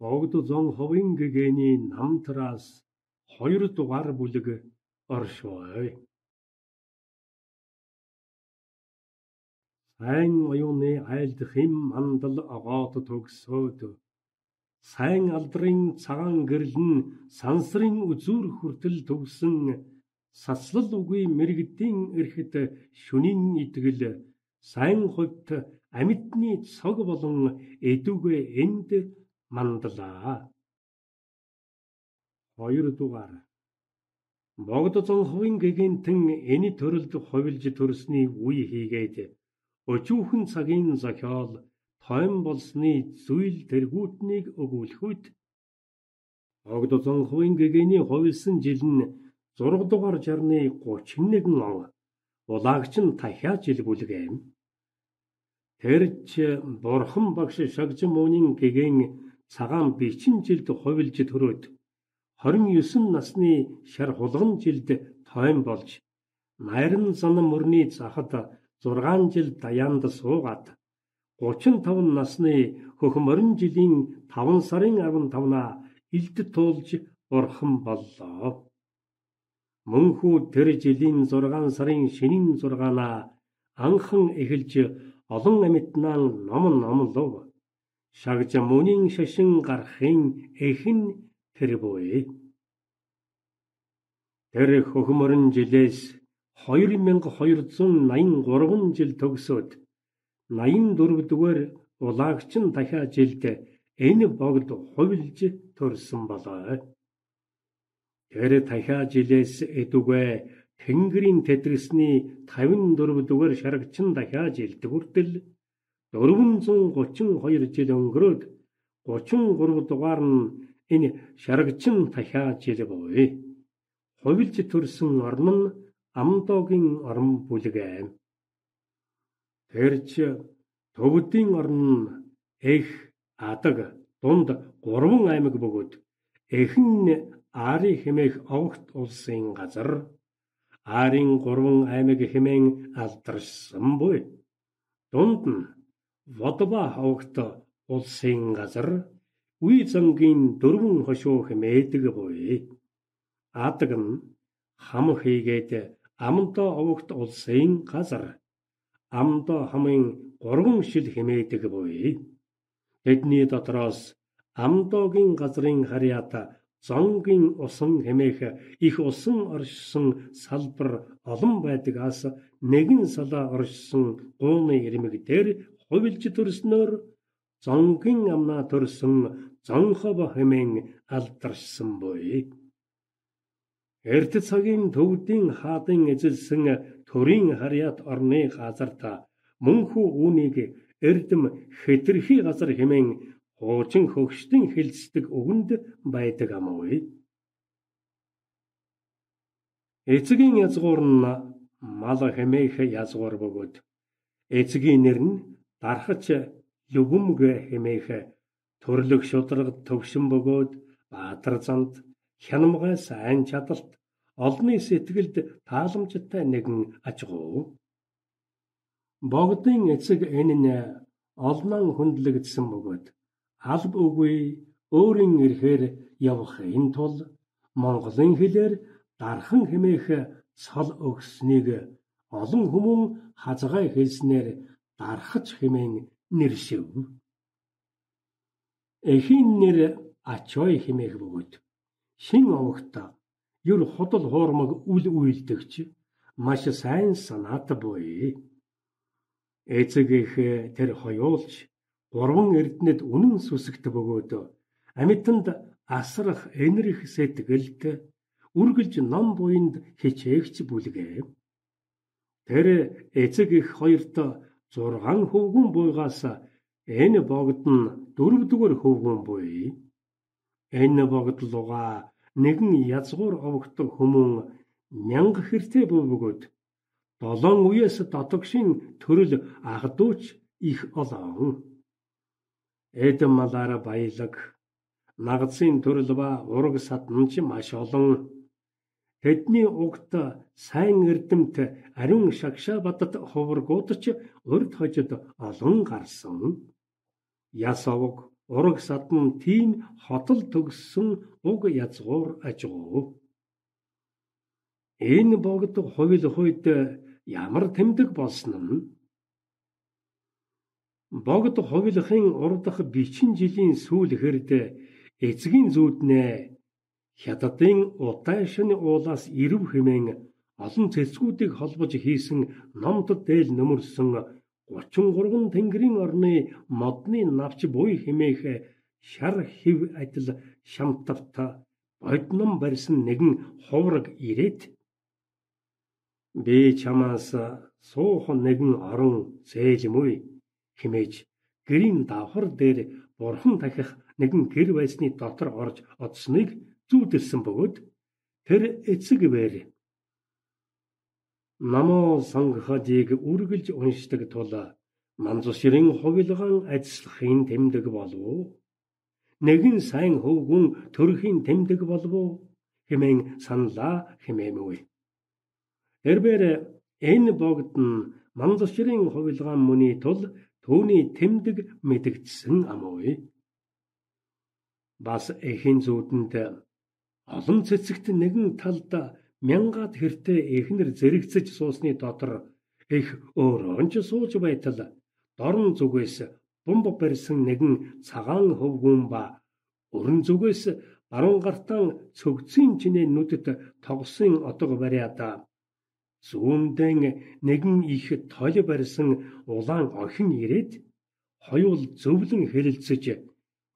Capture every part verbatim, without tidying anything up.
Богд зон ховын гэгэний намтраас хоёр дугаар бүлэг оршвой. Сайн оюуны айлд хэм мандал агоот төгсөөд сайн алдрын цагаан гэрэл нь сансрын үзүүр хүртэл төгсөн саслал үгүй мэрэгдийн эрхэт шүнийн итгэл сайн хувьд амьтны цог болон эдүгэ энд мандлаа. Хоёр дугаар Богд зонховын гэгэнтэн энэ төрөлд ховилж төрсний үе хийгээд өчүүхэн цагийн зохиол тойм болсны зүйл тэргүүтнийг өгүүлэхүйд Богд зонховын гэгэний ховилсан жил нь зураг дугаар жарны гучин нэгэн он улагч нь дахиад жил бүлгээм. Тэрч бурхан багш шагж мөнийн гэгэн цагаан бичин жилд ховилж төрөөд хорин есөн насны шар хулган жилд тойм болж найран зан мөрний захад зургаан жил даяанд суугаад гучин таван насны хөх морин жилийн таван сарын арван тавнаа илд туулж бурхан боллоо. Мөнхүү тэр жилийн зургаан сарын шинийн зургаанаа анхан эхэлж олон амьтнаа ном номлов. Шагж мөнийн шашин гарахын эхэн тэр буй. Тэр хөхмөрн жилээс хоёр мянга хоёр зуун наян гурван жил төгсөөд наян дөрөвдүгээр улагч нь дахиад жилд энэ богд ховилж төрсөн болоо. Тэр дахиад жилээс эдүгэ Тэнгэрийн тэтгэсний тавин дөрөвдүгээр шарагч нь дахиад жилд хүртэл дөрвөн зуун гучин хоёр жил өнгөрөөд гучин гурав дугаар нь энэ шарагч нь дахиад жил буй. Ховилж төрсөн орн нь Амдогийн орн бүлгэм. Тэрч төвдийн орн нь Эх, Адаг, дунд гурван аймаг бөгөөд эхэн Ари хэмээх огт улсын газар Арын гурван аймаг хэмээн алдаршсан буй. Дунд нь Водба огт улсын газар Үе зангийн дөрвөн хошуу хэмээдэг буй. Адаг нь хам хийгээд Амдо огт улсын газар Амдо хамын гурван шил хэмээдэг буй. Тэдний дотроос Амдогийн газрын харьяата зонгийн усан хэмээх их усан оршсон салбар олон байдагаас нэгэн салаа оршсон гууны ирмэг дээр ховилж төрснөөр зонгийн амнаа төрсөн зонхов хэмээн алдаршсан буй. Эрт цагийн төвдийн хаадын эзэлсэн төрийн харьяат орны газарта мөнхүү үүнийг эрдэм хэтэрхий газар хэмээн хуучин хөгшдөн хэлцдэг үгэнд байдаг амгүй. Эцгийн язгуур нь мал хэмээх язгуур бөгөөд эцгийн нэр нь дархач Любөмг хэмээх төрлөх шударгад төвшин бөгөөд баатар занд хянамгай сайн чадалт олны сэтгэлд тааламжтай нэгэн ажгуу. Богдын эцэг энэ нь олнон хүндлэгдсэн бөгөөд алба үгүй өөрийн эрхээр явахын тулд Монголын хэлээр дархан хэмээх цол өгснийг олон хүмүүн хазгай хэлснээр дархаж хэмээн нэршив. Эхийн нэр Ачой хэмээх бөгөөд шин овогтой юр хотол хоормог үл үйлдэгч маш сайн санаатай буй. Эцэг их тэр хоёулж гурван эрдэнэд үнэн сүсэгт бөгөөд амьтанд асрах энэрх сэтгэлд үргэлж ном буйнд хичээгч бүлгээ. Тэр эцэг их хоёрт зургаан хөвгүн буйгаас энэ богд нь дөрөвдүгээр хөвгүн буй. Энэ богд луга нэгэн язгуур овогтой хүмүүн мянга хэртэй буй бөгөөд долоон үеэс дотогшин төрөл агдууч их олон. Эдэм малаар баялаг нагцын төрөл ба ураг сатнч маш олон. Тэдний угт сайн эрдэмт ариун шагшаа бадад хуваргуудч урд хожид олон гарсан. Яс овог ураг садан тийм хотол төгссөн уг язгуур ажгуу. Энэ богд хувил хувьд ямар тэмдэг болсон нь? Богд хувилахын урдах бичин жилийн сүүл хэрд эцгийн зүүднээ хятадын утайшны уулаас ирв хэмээн олон цэцгүүдийг холбож хийсэн номдод дээл нөмөрсөн гучин гурван тэнгэрийн орны модны навч буй хэмээх шар хив адил шамтавт бодном барьсан нэгэн хувраг ирээд би чамаас суух нэгэн орон зээлмүй хэмээж гэрийн давхар дээр бурхан дахих нэгэн гэр байсны дотор орж одсныг зүүдэлсэн бөгөөд тэр эцэг бээр намоо сонгоходыг үргэлж уншдаг тул манзушрын хувилгаан ажиллахын тэмдэг болов. Нэгэн сайн хөвгүн төрхийн тэмдэг болов хэмээн саналаа хэмээмгүй. Тэрбээр энэ богд нь манзушрын хувилгаан мөний тул түүний тэмдэг мэдэгдсэн амгүй. Бас эхийн зүүдэнд олон цэцэгт нэгэн талд мянгаад хэртэй эхнэр зэрэгцэж суусны дотор их өөрөө ч сууж байтал дорн зүгээс бомб барьсан нэгэн цагаан хөвгүүн ба өрн зүгээс баруун гартаа цөгцийн чинээ нүдэд тогсон отго бариад зүүндэн нэгэн их тол барьсан улаан охин ирээд хоёул зөвлөн хэлэлцэж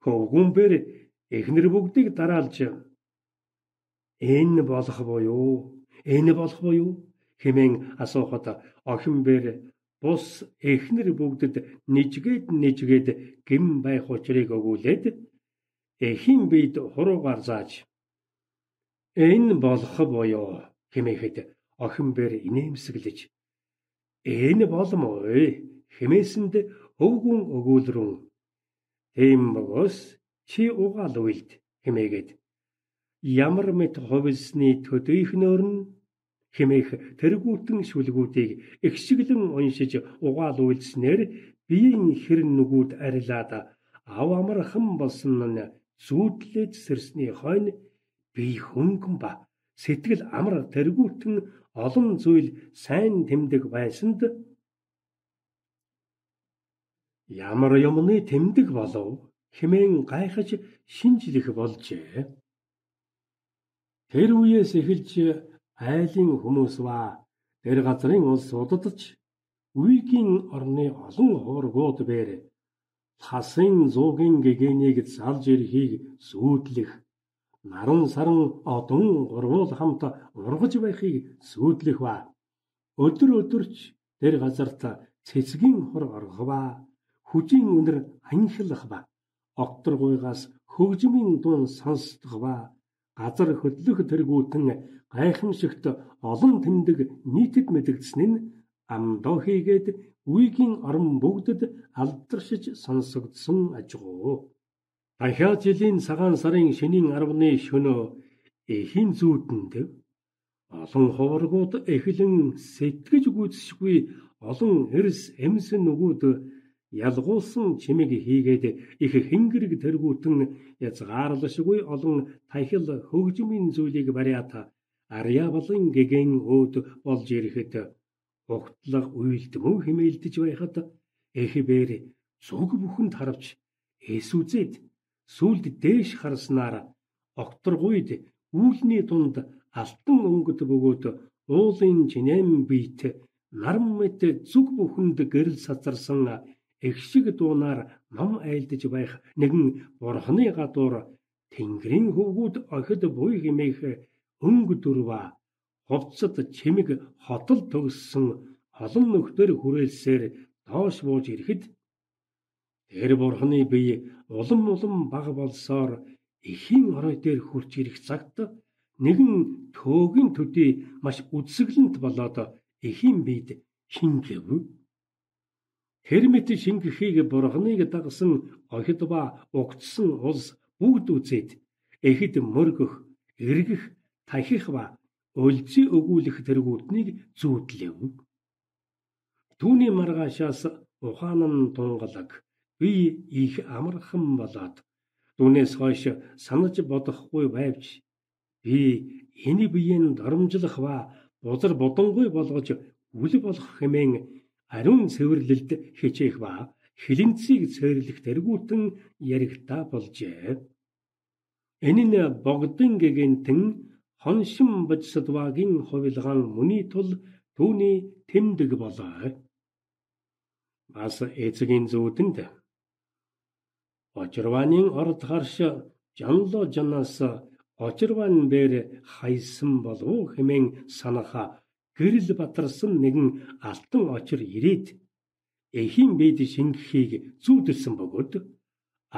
хөвгүүнээр эхнэр бүгдийг дараалж энэ болох буюу энэ болох буюу хэмээн асуухад охин бэр бус эхнэр бүгдэд нижгээд нижгээд гим байх учрыг өгүүлээд эхийн бид хуруугаар зааж энэ болох буюу хэмээхэд охин бэр инээмсэглэж энэ боломгүй хэмээсэнд өвгүн өгүүлрэн тийм бөгөөс чи угаал уйлд хэмээгээд ямар мэт хувилсны төдийхнөр нь хэмээх тэргүүтэн шүлгүүдийг ихшиглэн уншиж угаал уйлснээр биеийн хэр нүгүүд арилаад ав амархан болсон нь зүүдлэж сэрсний хойно бие хөнгөн ба сэтгэл амар тэргүүтэн олон зүйл сайн тэмдэг байсанд ямар юмны тэмдэг болов хэмээн гайхаж шинжлэх болжээ. Тэр үеэс эхэлж айлын хүмүүс ба тэр газрын улс удадж үйгийн орны олон хуургууд бээр хасын зуугийн гэгэнийг залж ирэхийг сүйдлэх наран саран одон гурвуул хамт ургаж байхыг сүйдлэх ба өдөр өдөрч тэр газарт цэцгийн хор орох ба хүжийн үнэр анхилах ба окторгуйгаас хөгжмийн дун сонсдох ба газар хөдлөх тэргүүтэн гайхамшигт олон тэмдэг нийтэд мэдэгдсэн нь амдоо хийгээд үйгийн орон бүгдэд алдаршиж сонсогдсон ажгуу. Дахиад жилийн цагаан сарын шөнийн арваны шөнөө эхийн зүүдэнд олон хуваргууд эхлэн сэтгэж гүйцэшгүй олон эрс эмс нүгүүд ялгуулсан чимэг хийгээд их хэнгэрэг тэргүүтэн язгаарлашгүй олон тахил хөгжмийн зүйлийг бариад арья балын гэгэн өөд болж ирэхэд угтлах уйлдмөө хэмээлдэж байхад эх бээр зүг бүхэнд харавч эсүзээд сүлд дээш харснаар окторгуйд үүлний дунд алтан өнгөд бөгөөд уулын чинэм бийт нарам мэт зүг бүхэнд гэрэл сацарсан их шиг дуунаар ном айлдаж байх нэгэн бурхны гадуур тэнгэрийн хөвгүүд охид буй хэмээх өнгө дүрва хувцад чимэг хотол төгссөн олон нөхдөр хүрээлсээр доош бууж ирэхэд тэр бурхны бие улам улам бага болсоор эхийн орой дээр хурж ирэх цагт нэгэн төөгийн төдий маш үдсгэлэнт болоод эхийн биед шингэв. Тэр мэт шингэхийг бурхныг дагсан охид ба угтсан улс бүгд үзээд эхэд мөргөх, эргэх, тахих ба өлзий өгүүлэх тэргүүднийг зүүдлэв. Түүний маргаашаас ухаан нь тунгалаг би их амархан болоод түүнээс хойш санаж бодохгүй байвч би энэ биеийн доромжлох ба бузар бодонгүй болгож үл болох хэмээн ариун цэвэрлэлд хичээх ба хилэнцгийг цэвэрлэх тэргүүтэн яригтаа болжээ. Энэ нь богдын гэгэнтэн хоншин божсодвагийн хувилгаан мөний тул түүний тэмдэг болоо. Бас эцгийн зүүдэнд очирванын орд харш жанло жанаас очирван бэр хайсан болов хэмээн санаха гэрэл батарсан нэгэн алтан очир ирээд эхийн бед шингэхийг зүүдэлсэн бөгөөд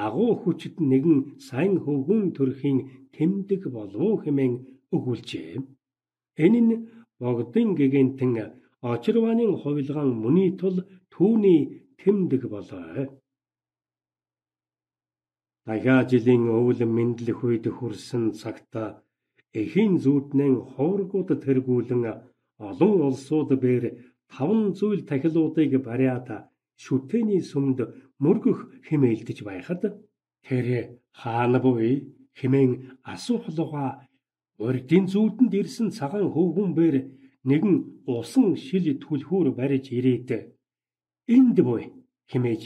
агуу хүчит нэгэн сайн хөвгүн төрхийн тэмдэг болов хэмээн өгүүлжээ. Энэ нь богдын гэгэнтэн очирванын хувилгаан мөний тул түүний тэмдэг болоо. Дахиад жилийн өвөл мэдлэх үед хүрсэн цагта эхийн зүүднэн ховргууд тэргүүлэн олон улсууд бээр таван зүйл тахилуудыг бариад шүтэний сүмд мөргөх хэмээлдэж байхад тэр хаана буй хэмээн асуухлууга урдын зүүдэнд ирсэн цагаан хөвгүн бээр нэгэн усан шил түлхүүр барьж ирээд энд буй хэмээж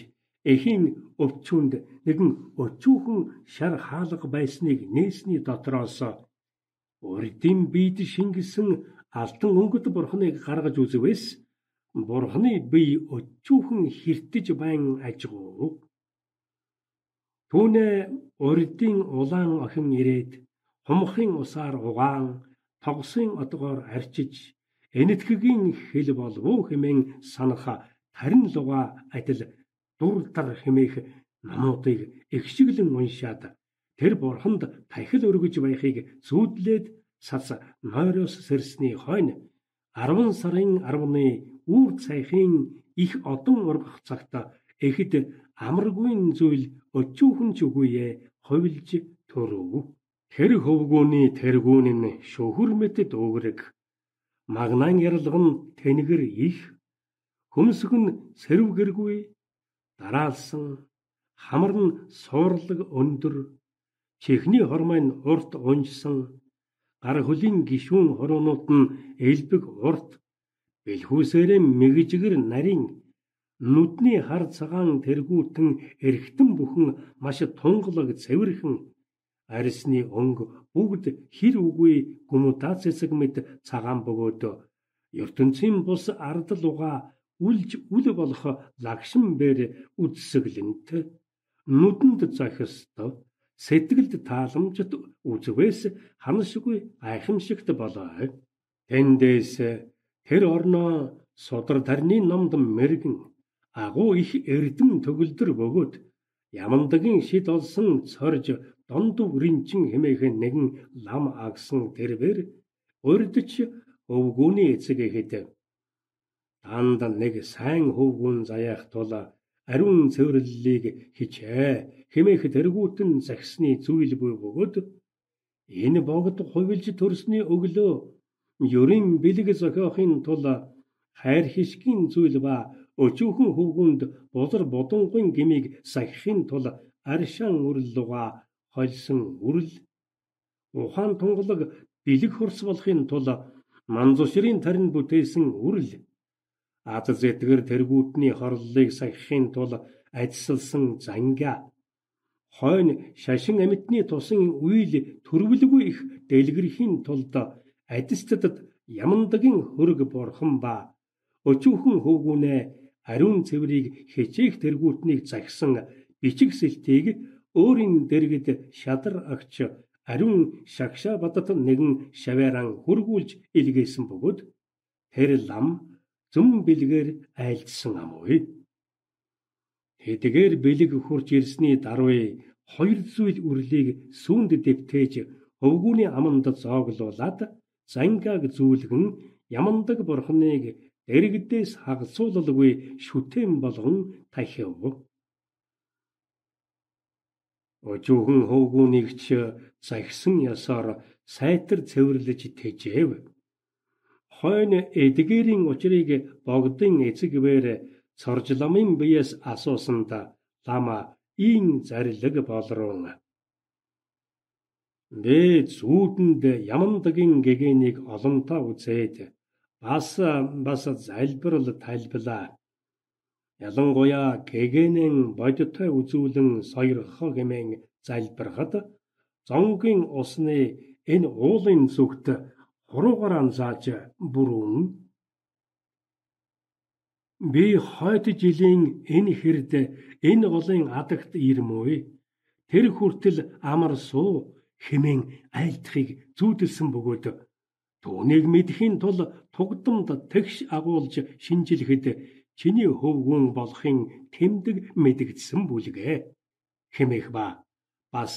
эхийн өвчүүнд нэгэн өчүүхэн шар хаалга байсныг нээсний дотроос урдын бид шингэсэн алтан өнгөт бурхныг гаргаж үзвэс бурхны бие өчүүхэн хэртэж байн ажгуу. Түүнээ урдын улаан охин ирээд хумхын усаар угаан тогсын одгоор арчиж энэтхэгийн хэл болов хэмээн санаха тарин луга адил дуртар хэмээх намуудыг ихшиглэн уншаад тэр бурханд тахил өргөж байхыг зүүдлээд цац нойроос сэрсний хойно арван сарын арваны үүр цайхын их одон ургах цагта эхэд амаргүй зүйл өчүүхэн ч үгүйе ховилж төрөв. Тэр хөвгүүний тэргүүн нь шөхөр мэт дүүрэг магнаан яралган тэнгэр их хөмсг нь сэрвгэргүй дараалсан хамар нь суурлаг өндөр чихний хормой нь урт унжсан гар хөлийн гишүүн хороонууд нь элбэг урт бэлхүүсээрээ мэгжгэр нарийн нүдний хар цагаан тэргүүтэн эргэтэн бүхэн маш тунгалаг цэвэрхэн арьсны өнг бүгд хэр үгүй гүмүдаа цэцэг мэд цагаан бөгөөд ертөнцийн бус ардал угаа үлж үл болох лагшин бэр үдсэглэнт нүдэнд захисто сэтгэлд тааламжт үзвээс ханашгүй гайхамшигт болоо. Тэндээс тэр орноо судар тарны номд мэргэн агуу их эрдэм төгөлдөр бөгөөд ямандагийн шид олсон цорж дондуу ринчин хэмээх нэгэн лам агсан тэрбэр урдч өвгүүний эцэг ихэд данд нэг сайн хөвгүүн заяах тул ариун цэвэрлэлийг хичээ хэмээх тэргүүтэн загсны зүйл буй бөгөөд энэ богд хувилж төрсний өглөө ерийн бэлэг зохиохын тул хайр хишгийн зүйл ба өчүүхэн хөвгүнд бузар бодонгын гмийг сахихын тул аршаан үрлуга хольсон үрл ухаан тунгалаг бэлэг хурс болохын тул манзушрын тарин бүтээсэн үрл ад зэтгэр тэргүүтний хорлолыг сахихын тул ажилласан занга хойно шашин амьтны тусан үйл төрвөлгүй их дэлгэрхийн тулд адистадад ямандагийн хөрөг борхон ба өчүүхэн хөвгүүнээ ариун цэврийг хичээх тэргүүтнийг загсан бичиг сэлтийг өөрийн дэргэд шадар агч ариун шагшаа бадат нэгэн шавааран хөргүүлж илгээсэн бөгөөд тэр лам зүм бэлгээр айлдсан амгүй. Тэдгээр бэлэг хурж ирсний даруй хоёр зүйл үрлийг сүүнд дэвтээж өвгүүний аманд зооглуулад зангаг зүүлгэн ямандаг бурхныг дэрэгдээс хагасуулалгүй шүтэн болгон тахив. Өчүүхэн хөвгүүнийг ч загсан ясаар сайтар цэвэрлэж тэжээв. Хойно эдгээрийн учрыг богдын эцэг бээр цоржламын биес асуусанд лама ийн зарилэг болрон. Би зүүдэнд ямандагийн гэгэнийг олонтаа үзээд бас бас залбирал тайлбалаа. Ялангуяа гэгэнэн бодиттой үзүүлэн сойрхоо гэмээн залбирахад зонгийн усны энэ уулын зүгт хуруугаар анзааж бүрүүн. Би хойд жилийн энэ хэрд энэ голын адагт ирмүй. Тэр хүртэл амар суу хэмээн айлтхыг зүүдэлсэн бөгөөд түүнийг мэдхийн тул тугдамд тэгш агуулж шинжилэхэд чиний хөвгүүн болохын тэмдэг мэдэгдсэн бүлгээ хэмээх ба бас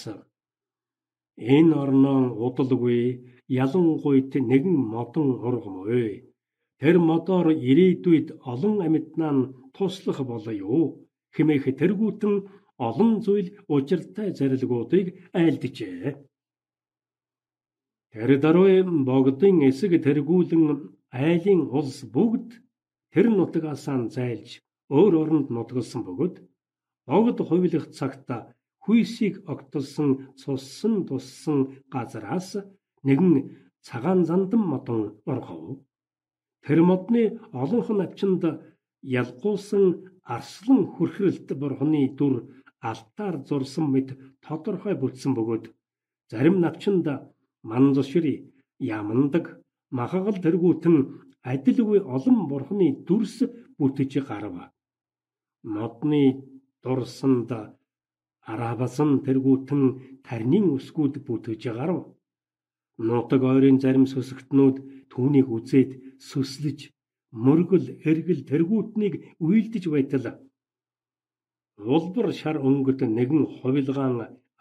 энэ орноо удалгүй ялангуйт нэгэн модон ургамгүй. Тэр модоор ирээдүйд олон амьтнаа туслах болоё хэмээх тэргүүтэн олон зүйл учиртай зарилгуудыг айлджээ. Тэр даруй богдын эсэг тэргүүлэн айлын улс бүгд тэр нутгаасаа зайлж өөр оронд нутгалсан бөгөөд богд хувилах цагт хүйсийг огтолсон цуссан туссан газараас нэгэн цагаан зандан модон орхов. Тэр модны олонх навчинд ялгуулсан арслан хүрхрэлт бурхны дүр алтаар зурсан мэт тодорхой бүтсэн бөгөөд зарим навчинд манзошри ямандаг махагал тэргүүтэн адилгүй олон бурхны дүрс бүтэж гарав. Модны дурсанд арабасан тэргүүтэн тарнийн үсгүүд бүтэж гарав. Нутаг ойрын зарим сүсгтнүүд түүнийг үзээд сүслэж мөргөл эргэл тэргүүтнийг уйлдэж байтал улбар шар өнгөт нэгэн хувилгаан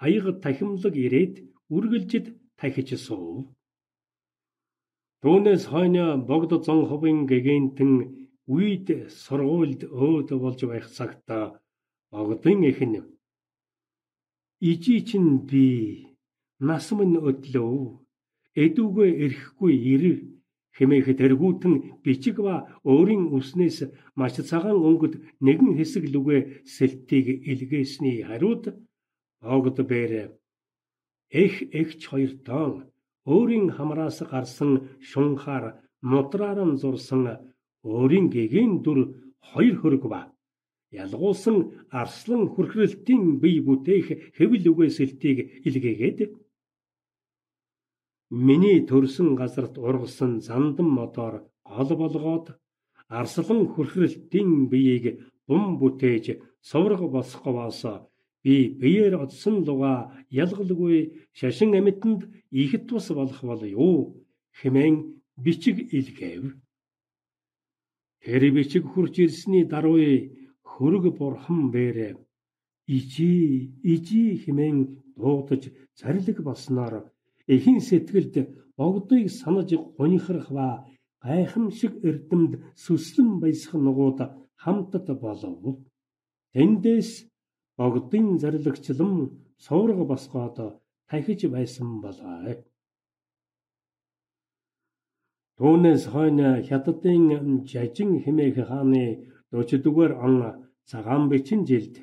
аяга тахимлаг ирээд үргэлжид тахиж суув. Түүнээс хойно богд зонховын гэгэнтэн үед сургуульд өөд болж байх цагт богдын эхэн ижи чин би нас минь өдлөө эдүгэ эрэхгүй ирэр хэмээх тэргүүтэн бичиг ба өөрийн үснээс маш цагаан өнгөд нэгэн хэсэг лүгэ сэлтийг илгээсний хариуд богд бээр эх эгч хоёр тоон өөрийн хамраас гарсан шунхаар мудраар нь зурсан өөрийн гэгээн дүр хоёр хөрөг ба ялгуулсан арслан хүрхрэлтийн бие бүтээх хэвэл үгээ сэлтийг илгээгээд миний төрсөн газарт ургасан зандан модоор гол болгоод арслан хүрхрэлтийн биеийг бум бүтээж сувраг босгоос би биеэр одсон луга ялгалгүй шашин амьтанд их тус болох болё хэмээн бичиг илгээв. Тэр бичиг хурж ирсний даруй хөрөг бурхан бээрэ ижи ижи хэмээн дуудаж зарилэг болсноор эхийн сэтгэлд богдыг санаж гунихрах ба гайхамшиг эрдэмд сүслэн баясах нугууд хамтд болов. Тэндээс богдын зарилэгчлан сувраг босгоод тахиж байсан болоо. Түүнээс хойно хятадын жажин хэмээх хааны дөрөвдүгээр он цагаан бичин жилд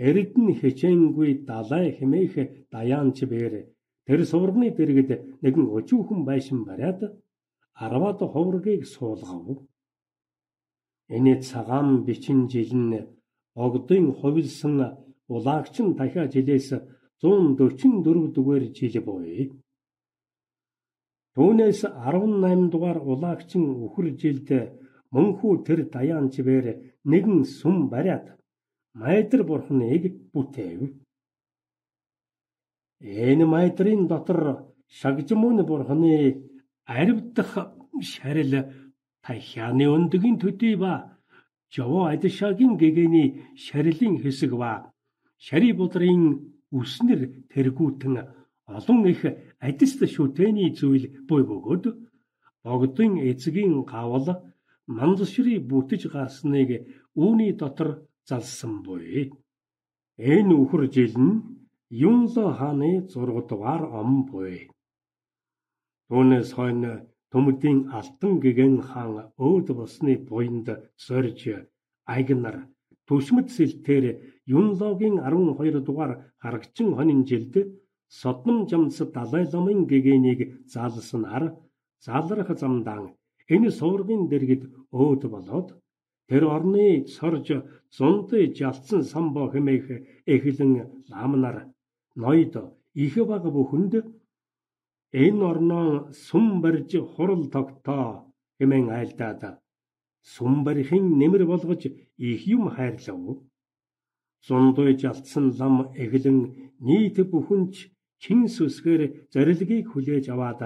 эрдэн хичээнгүй далай хэмээх даяанч бээр тэр суврагны дэргэд нэгэн өчүүхэн байшин бариад арваад хувргийг суулгав. Энэ цагаан бичин жил нь богдын хувилсан улаагчин дахиа жилээс зуун дөрвөн дөрвөн дугаар жил буй. Түүнээс арван найман дугаар улаагчин үхэр жилд мөнхүү тэр даяанч бээр нэгэн сүм бариад майдар бурхныг бүтээв. Энэ майдрын дотор шагжмын бурхны аривдах шарил тахианы өндгийн төдий ба жоо адшагийн гэгэний шарилын хэсэг ба шари будрын үснэр тэргүүтэн олон их адист шүтэний зүйл буй бөгөөд богдын эцгийн гавал мандшри бүтэж гарсныг үүний дотор залсан буй. Энэ үхэр жил нь Юнло хааны зураг дугаар ом буй. Түүнээс хойно Төмөдийн алтан гэгэн хаан өөд босны буйнд сорж агнар түшмэд сэлтээр Юнлогийн арван хоёр дугаар харагчин хонин жилд Содом жамс Далай ламын гэгэнийг заалсан ар заалрах замдаа энэ суургын дэргэд өөд болоод тэр орны сорж зунд жалтсан самбо хэмээх эхлэн ламнар ноёд их баг бүхэнд энэ орноо сум барьж хурал тогтоо хэмээн айлдаад сум барихын нэмэр болгож их юм хайрлав. Зундуй жалтсан лам эхлэн нийт бүхэнч чин сүсгээр зорилгыг хүлээж аваад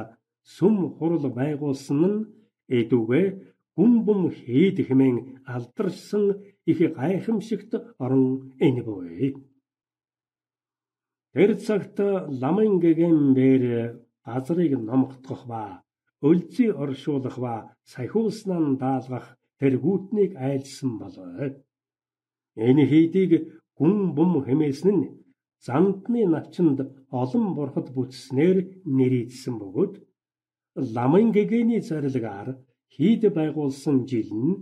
сум хурал байгуулсан нь эдүгэ гүн бум хэд хэмээн алдарсан их гайхамшигт орон энэ буй. Тэр цагт ламын гэгэн бэр газрыг номгдох ба өлзий оршуулах ба сахиуснан даалгах тэргүүтнийг айлсан болоо. Энэ хийдийг гүн бум хэмээсэн нь зандны навчинд олон бурхад бүтснээр нэрийдсэн бөгөөд ламын гэгэний зорилгаар хийд байгуулсан жил нь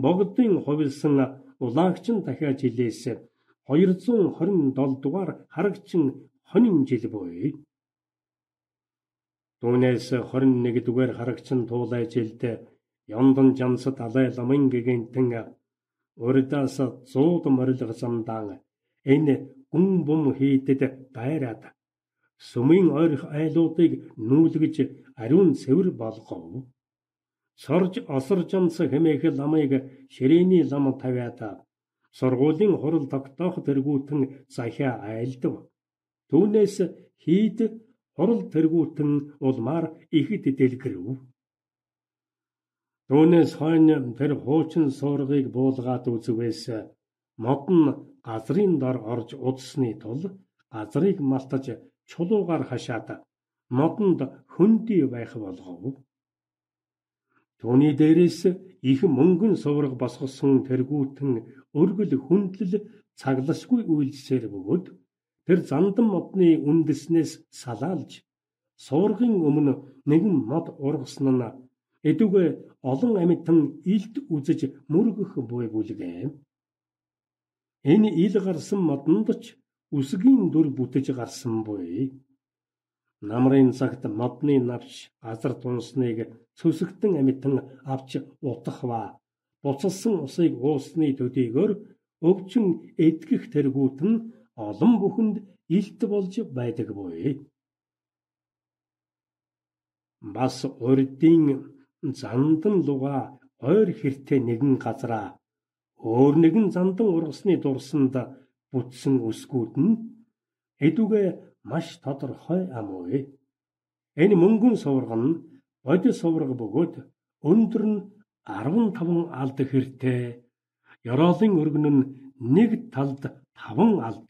богдын хувилсан улагчин дахиад жилээс хоёрзуун хорин долоо дугаар харагчин хонин жил буй. Түүнээс хорин нэг дугаар харагчин туулай жилд Ёндон жамс Далай ламын гэгэнтэн урдаас зууд морилго замдаа энэ гүн бум хийдэд байраад сүмийн ойрох айлуудыг нүүлгэж ариун цэвэр болгов. Сорж осоржамс хэмээх ламыг ширээний лам тавиад сургуулийн хурал тогтоох тэргүүтэн захиа айлдав. Түүнээс хийд хурал тэргүүтэн улмаар ихэд дэлгэрв. Түүнээс хойно тэр хуучин суургыг буулгаад үзвээс мод нь газрын дор орж удсны тул газрыг малтаж чулуугаар хашаад модонд хөндөй байх болгов. Түүний дээрээс их мөнгөн сувраг босгосон тэргүүтэн өргөл хүндлэл цаглашгүй үйлсээр бөгөөд тэр зандан модны үндэснээс салаалж суургын өмнө нэгэн мод ургасан нь эдүгэ олон амьтан илд үзэж мөргөх буй бүлгээ. Энэ ил гарсан модонд ч үсгийн дүр бүтэж гарсан буй. Намрын цагт модны навч газар тунсныг цөсгтэн амьтан авч утах ба буцалсан усыг уусны төдийгөр өвчин эдгэх тэргүүт нь олон бүхэнд илт болж байдаг буй. Бас урдын зандан луга ойр хэртэй нэгэн газраа өөр нэгэн зандан ургасны дурсанд бүтсэн үсгүүд нь эдүгэ маш тодорхой амуй. Энэ мөнгөн сувраг нь бодис сувраг бөгөөд өндөр нь арван таван алд хэртэй, ёроолын өргөн нь нэг талд таван алд,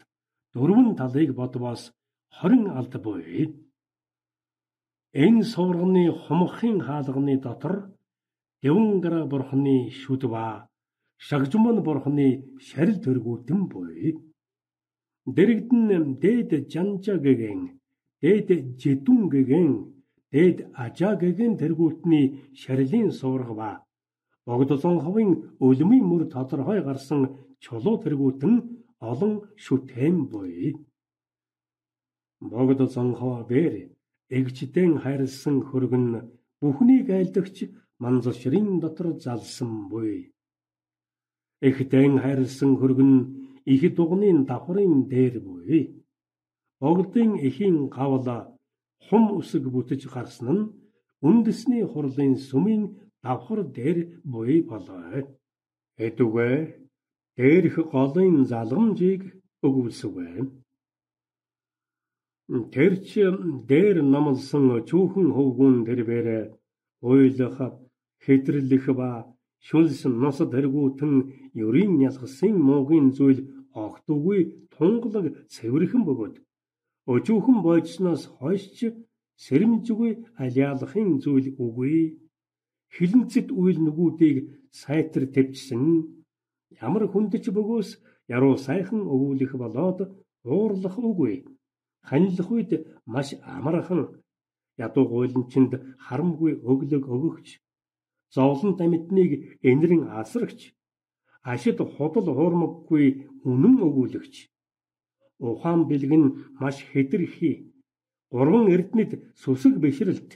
дөрвөн талыг бодвоос хорин алд буй. Энэ суврагны хумхын хаалганы дотор Девангара бурхны шүд ба Шагжмон бурхны шарил тэргүүтэн буй. Дэрэгдэн дээд жанжа гэгэн, дээд жидүн гэгэн, дээд ажаа гэгэн тэргүүтний шарилын сувраг ба богдолон ховын өлмийн мөр тодорхой гарсан чулуу тэргүүтэн олон шүтэн буй. Богдолон хоо бэр эгчдэн хайрлсан хөргөн бүхнийг айлдагч манзашрын дотор залсан буй. Эхдэн хайрлсан хөргөн их дугны давхрын дээр буй. Богдын эхийн гавла хум үсэг бүтэж гарсан нь үндэсний хурлын сүмийн давхар дээр буй болоо. Эдүгэ дээрх голын залгамжийг өгүүлсэвэ. Тэрч дээр намлсан чүүхэн хөвгүн тэрбээр ойлох, хэтрэлэх ба шүлс нос тэргүүтэн ерийн ялгсан муугийн зүйл огтугүй тунгалаг цэвэрхэн бөгөөд өчүүхэн бойцноос хойшч сэрэмжгүй алиалахын зүйл үгүй. Хилэнцэд үйл нүгүүдийг сайтар төвчсөн ямар хүндэж бөгөөс яруу сайхан өгүүлэх болоод уурлах үгүй. Ханилах үед маш амархан ядуу гуйланчинд харамгүй өглөг өгөгч, зовлон тамитныг энэрэн асрагч, ашид худал хуурмаггүй үнэн өгүүлэгч. Ухаан бэлэг нь маш хэтэрхий. Гурван эрдэнэт сүсэг бишрэлт.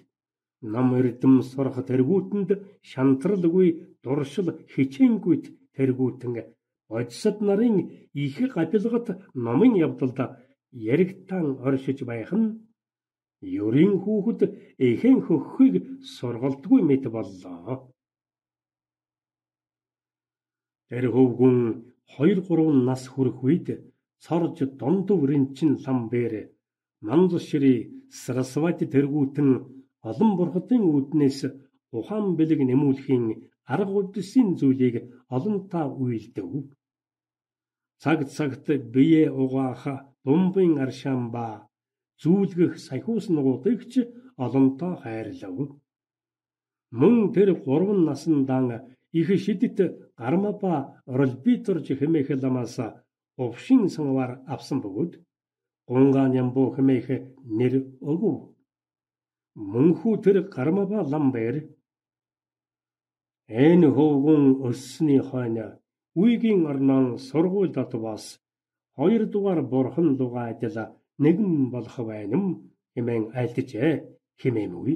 Нам эрдэм сурах тэргүүтэнд шантралгүй дуршил хичээнгүйт тэргүүтэн бодисод нарын их гапилгат номын явдалд яригтан оршиж байх нь ёрийн хүүхэд эхэн хөххийг сургалдгүй мэт боллоо. Тэр хөвгүн хоёр гурван нас хүрэх үед цорж дондов ринчин ламбэр мандшри сарасвати тэргүүтэн олон бурхадын үүднээс ухаан бэлэг нэмүүлэхийн арга удсын зүйлийг олонтаа үйлдэв. Цаг цагт бие угаах бомбын аршаан ба зүүлгэх сахиус нугуудыг ч олонтоо хайрлав. Мөн тэр гурван насандан их шидэт гармапа оролбиторж хэмээх ламаас овшин санвар авсан бөгөөд гунгаан ямбуу хэмээх нэр өгөв. Мөнхүү тэр гармапа ламбэр энэ хөвгүн өссөний хойно үйгийн орнон сургууль дотвоос хоёрдугаар бурхан лугаа адил нэгэн болох байна хэмээн айлтжээ хэмээмгүй.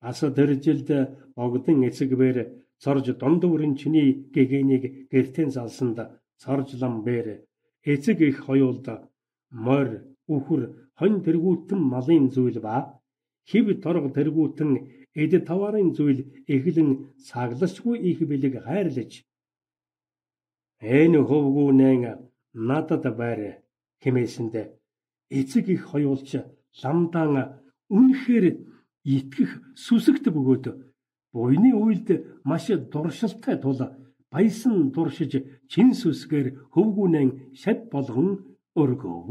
Ас тэр жилд богдын эцэгбэр цорж дондоврын чиний гэгэнийг гэртэн залсанд цорж ламбэр эцэг их хоёулд морь үхэр хонь тэргүүтэн малын зүйл ба хив торго тэргүүтэн эд таварын зүйл эхлэн сагласгүй их бэлэг хайрлаж энэ хөвгүүнэн надад байр хэмээсэнд эцэг их хоёулч ламдаан үнэхээр итгэх сүсэгт бөгөөд буйны үйлд маш дуршилтай тул баясан дуршиж чин сүсгээр хөвгүүнэн шат болгон өргөв.